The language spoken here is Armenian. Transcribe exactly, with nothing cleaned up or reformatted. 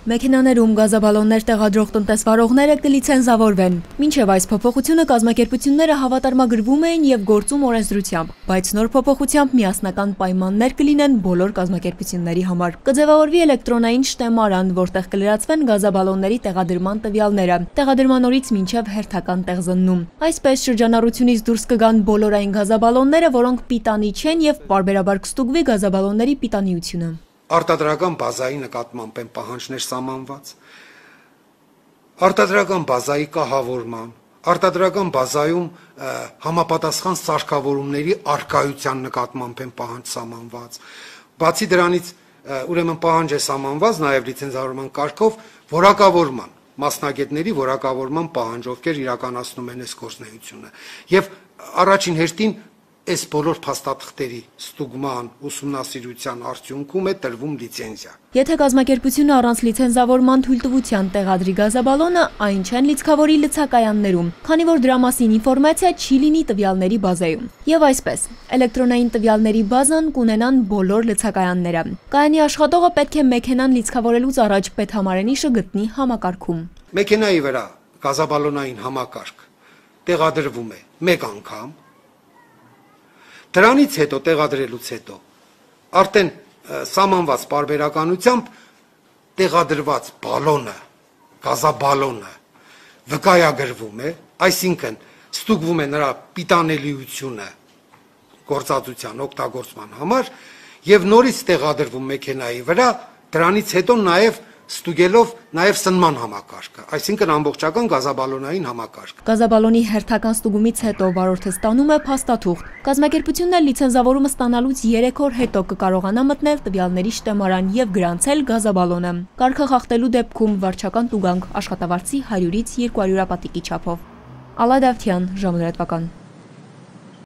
Մեքենաներում գազաբալոններ տեղադրող տնտեսվարողները կլիցենզավորվեն։ Մինչև այս փոփոխությունը կազմակերպությունները հավատարմագրվում էին եւ գործում օրենսդրությամբ, բայց նոր փոփոխությամբ միասնական պայմաններ կլինեն բոլոր կազմակերպությունների համար։ Կձևավորվի էլեկտրոնային շտեմարան, որտեղ կլրացվեն գազաբալոնների տեղադրման տվյալները, տեղադրման օրից մինչև հերթական տեղզննում։ Այսպես շրջանառությունից դուրս կգան բոլորային գազաբալոնները, որոնք պիտանի չեն եւ պարբերաբար կստուգվի գազաբալոնների պիտանիությունը։ Արտադրական բազայի նկատմամբ են պահանջներ սահմանված, արտադրական բազայի կահավորման, արտադրական բազայում համապատասխան սարքավորումների առկայության նկատմամբ են պահանջ սահմանված, բացի դրանից ուրեմն պահանջ է սահմանված նաև լիցենզավորման կարգով որակավորման, մասնագետների որակավորման պահանջ, ովքեր իրականացնում են այս գործունեությունը, եւ առաջին հերթին այս բոլոր փաստաթղթերի ստուգման, ուսումնասիրության արդյունքում է տրվում լիցենզիա։ Եթե կազմակերպությունը առանց լիցենզավորման թույլտվության տեղադրի գազաբալոնը, այն չեն լիցքավորի լցակայաններում, քանի որ դրա մասին ինֆորմացիա չի լինի տվյալների բազայում։ Եվ այսպես, էլեկտրոնային տվյալների բազան կունենան բոլոր լցակայանները։ Կայանի աշխատողը պետք է մեքենան լիցքավորելուց առաջ պետհամարենիշը գտնի համակարգում։ Մեքենայի վրա գազաբալոնային համակարգ տեղադրվում է մեկ անգամ, դրանից հետո տեղադրելուց հետո արդեն սահմանված պարբերականությամբ տեղադրված բալոնը, գազաբալոնը վկայագրվում է, այսինքն ստուգվում է նրա պիտանելիությունը գործածության օգտագործման համար եւ նորից տեղադրվում մեքենայի վրա, դրանից հետո նաեւ ստուգելով նաև սնման համակարգը, այսինքն ամբողջական գազաբալոնային համակարգ։ Գազաբալոնի հերթական ստուգումից հետո վարորդը ստանում է փաստաթուղթ։ Կազմակերպությունն էլ լիցենզավորումը ստանալուց երեք օր հետո կկարողանա մտնել տվյալների շտեմարան եւ գրանցել գազաբալոնը։ Կարգը խախտելու դեպքում վարչական տուգանք աշխատավարձի հարյուրից երկու հարյուր ապատիկի չափով։ Ալա Դավթյան, ժամը լրատվական։